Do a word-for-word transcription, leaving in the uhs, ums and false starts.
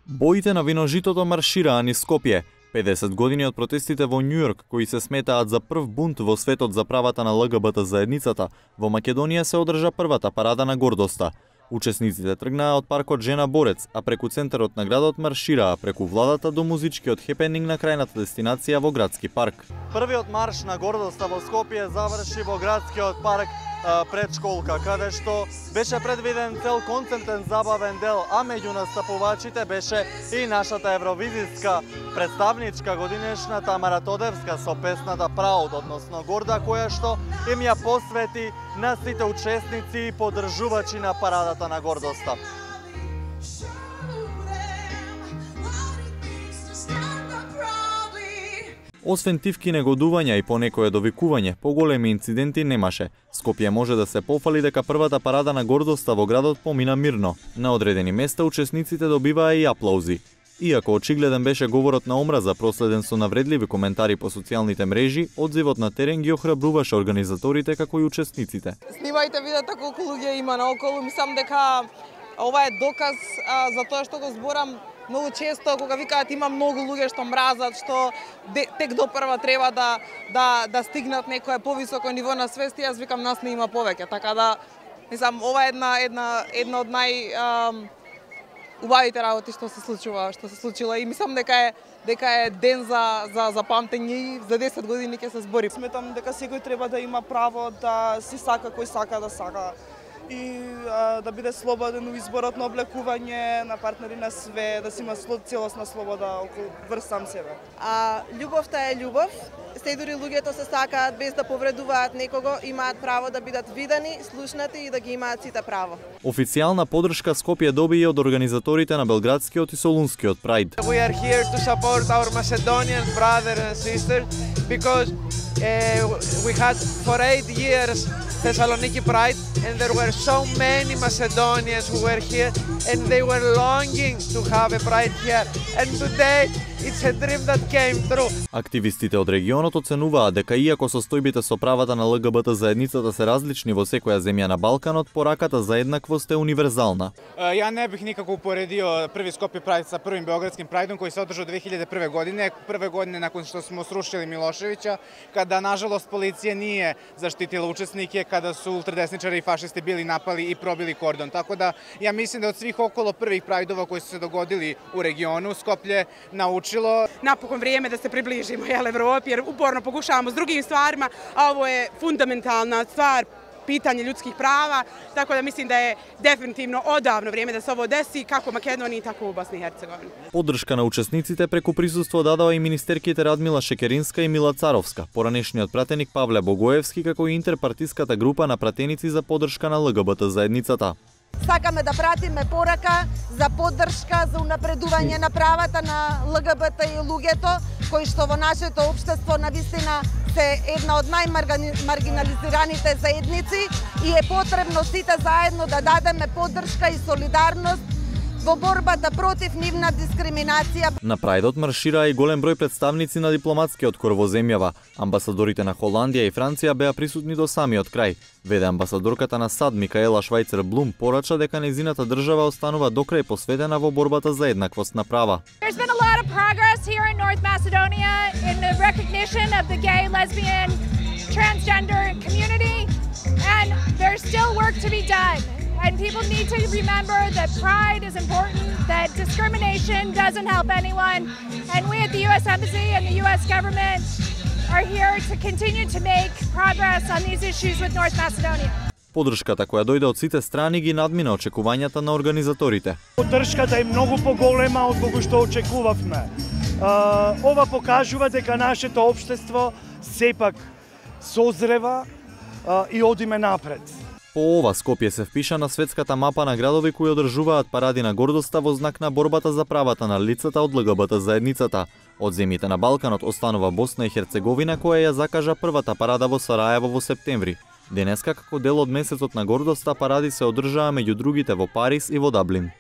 Боите на виножитото маршираа низ Скопје. педесет години од протестите во Њујорк, кои се сметаат за прв бунт во светот за правата на Л Г Б Т заедницата, во Македонија се одржа првата парада на гордоста. Учесниците тргнаа од паркот Жена Борец, а преку центарот на градот маршираа преку владата до музичкиот хепенинг на крајната дестинација во градски парк. Првиот марш на гордоста во Скопје заврши во градскиот парк пред школка, каде што беше предвиден цел концертен забавен дел, а меѓу настапувачите беше и нашата евровизиска представничка годинешна Тамара Тодевска со песната Proud, односно горда, која што им ја посвети на сите учесници и поддржувачи на парадата на гордоста. Освен тивки негодувања и понекое довикување, поголеми инциденти немаше. Скопје може да се пофали дека првата парада на гордоста во градот помина мирно. На одредени места учесниците добиваа и аплаузи. Иако очигледен беше говорот на омраза проследен со навредливи коментари по социјалните мрежи, одзивот на терен ги охрабруваше организаторите како и учесниците. Снимајте, видете колку луѓе има наоколу, мислам дека ова е доказ а, за тоа што го зборам. Многу често кога викаат има многу луѓе што мразат, што тек допрва треба да да да стигнат некое повисоко ниво на свест, јас викам нас не има повеќе, така да мислам ова е една една една од нај ам, убавите работи што се случува, што се случила и мислам дека е дека е ден за за за памтење и за десет години ќе се збори. Сметам дека секој треба да има право да си сака кој сака да сака и а, да биде слободен во изборот на облекување, на партнери, на све, да си има целосна слобода околу врз сам себе. А љубовта е љубов. Се дури луѓето се сакаат без да повредуваат некого, имаат право да бидат видени, слушнати и да ги имаат сите право. Официјална поддршка Скопје доби и од организаторите на Белградскиот и Солунскиот Pride. We are here to support our Macedonian brothers and sisters because uh, we had for eight years Thessaloniki Pride and there were so many Macedonians who were here and they were longing to have a pride here and today it's a dream that came true. Активистите од регионот оценуваат дека иако состојбите со правата на Л Г Б Т заедницата се различни во секоја земја на Балканот, пораката за еднаквост е универзална. Ја не бих никако упоредио први Скопје Прайд со првим Beogradskim Prajdom кој се одржа две илјади и прва година, прве година након што смо срушили Милошевиќа, када нажалост полиција nije заштитила учеснике, када су ултрадесничари и фашисти били напали и пробили кордон. Тако да ја мислим да од свих около првих прајдова кои се догодили у региону, Скопје научило. Napokon vrijeme da se približimo jel, Evropi, jer uporno pokušavamo s drugim stvarima, a ovo je fundamentalna stvar, pitanje ljudskih prava, tako da mislim da je definitivno odavno vrijeme da se ovo desi, kako u Makedoniji, tako u Bosni i Hercegovini. Поддршка на учесниците преку присуство дадоа и министерките Радмила Шекеринска и Мила Царовска, поранешниот пратеник Павле Богоевски, како и интерпартиската група на пратеници за поддршка на Л Г Б Т заедницата. Сакаме да пратиме порака за поддршка за унапредување на правата на Л Г Б Т и луѓето кои што во нашето општество навистина се една од најмаргинализираните заедници и е потребно сите заедно да дадеме поддршка и солидарност во борбата против нивна дискриминација. На Прајдот маршираа и голем број представници на дипломатскиот кор во земјава. Амбасадорите на Холандија и Франција беа присутни до самиот крај. Веде амбасадорката на САД Микаела Швајцер Блум порача дека нејзината држава останува докрај посветена во борбата за еднаквост на права. There's been a lot of progress here in North Macedonia in the recognition of the gay, lesbian, transgender community and there's still work to be done. And people need to remember that pride is important, that discrimination doesn't help anyone. And we at the U S Embassy and the U S government are here to continue to make progress on these issues with North Macedonia. Поддршката која дојде од сите страни ги надмина очекувањата на организаторите. Поддршката е многу поголема од кога што очекувавме. Ова покажува дека нашето општество сепак созрева и одиме напред. По ова Скопје се впиша на светската мапа на градови кои одржуваат паради на гордоста во знак на борбата за правата на лицата од Л Г Б Т заедницата. Од земјите на Балканот останува Босна и Херцеговина која ја закажа првата парада во Сараево во септември. Денеска како дел од месецот на гордоста паради се одржаа меѓу другите во Париз и во Даблин.